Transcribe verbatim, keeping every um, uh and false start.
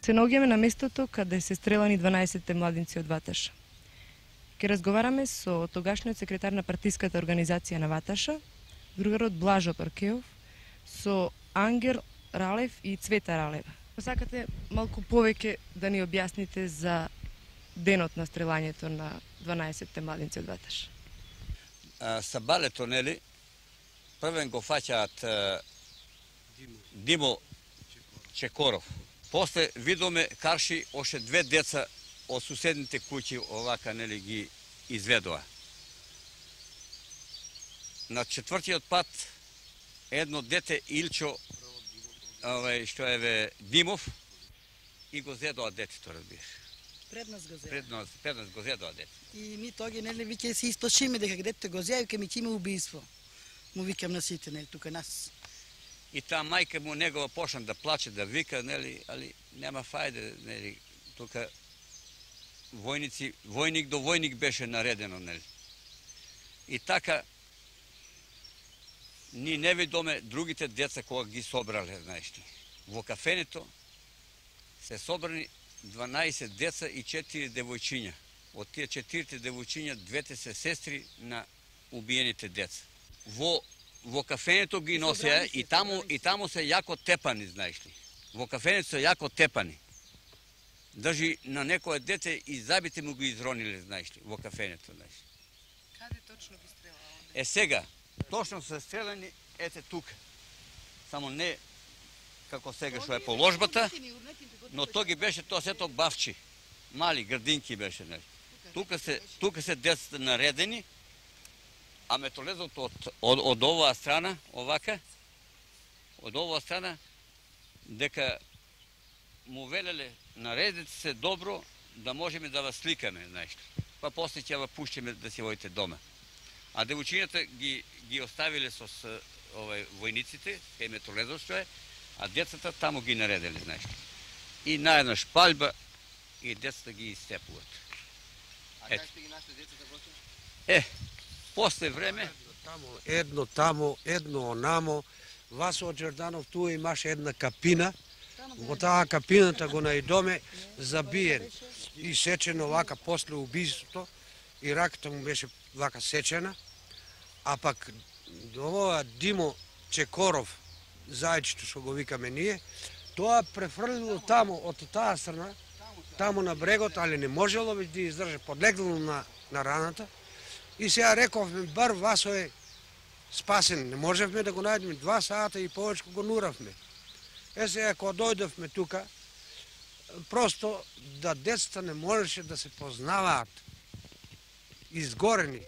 Се наоѓаме на местото каде се стрелани дванаесет младинци од Ваташа. Ке разговараме со тогашниот секретар на партиската организација на Ваташа, другарот Блажо Торкеов, со Ангел Ралев и Цвета Ралева. Сакате малку повеќе да ни објасните за денот на стрелањето на дванаесет младинци од Ваташа? Са балето, нели, првен го фаќаат Димо Чекоров. После видоме карши още две деца од суседните куќи овака, нели, ги изведоа. На четвртиот пат едно дете Илчо, овај што е Димов, и го зедоа детето, разбираш. Пред нас го зедоа. Пред нас, пред нас го зедоа дете. И ми тоги, нели, виќе се исплашиме дека детето го зеа, виќе ми ќе има убиство. Му викам на сите, нели, тука нас. И таа мајка му негова почна да плаче, да вика, нели, али нема фајде, нели, тука војници, војник до војник беше наредено, нели. И така, ни не видоме другите деца кога ги собрале, знаеш ли. Во кафенето се собрани дванаесет деца и четири девојчиња. Од тие четирите девојчиња, двете се сестри на убиените деца. Во Во кафенето ги носеа и таму и таму се јако тепани, знаеш ли. Во кафенето се јако тепани. Држи на некое дете и забите му ги изрониле, знаеш ли, во кафенето, знаеш. Каде точно ги стрелаа? Е сега, точно се стрелани ете тука. Само не како сега што е положбата, но тоа ги беше тоа сето бавчи. Мали градинки беше, нели. Тука се тука се децата наредени. А метолезот од, од, од оваа страна, овака, од оваа страна, дека му велеле, наредете се добро, да можеме да вас сликаме, знаеш. Па после ќе ва пуштиме да си воите дома. А девојчињата ги, ги оставиле со овај, војниците, кај метолезот што е, а децата таму ги наределе, знаеш. И наеднаш палба, и децата ги истепуват. А как сте ги нашли децата, броќе? Е, после време едно тамо, едно онамо. Васо Џерданов ту имаше една капина. Во таа капината го најдоме забиен и сечен овака после убиството и раката му беше вака сечена. А пак ова Димо Чекоров, зајчето што го викаме ние, тоа префрлило тамо од таа страна, тамо на брегот, али не можело веќе да издржи, подлегло на, на раната. И сега рековме, бар Васо е спасен, не можевме да го најдеме, два сата и повече го нуравме. Е сега, кога дојдовме тука, просто да децата не можеше да се познаваат, изгорени.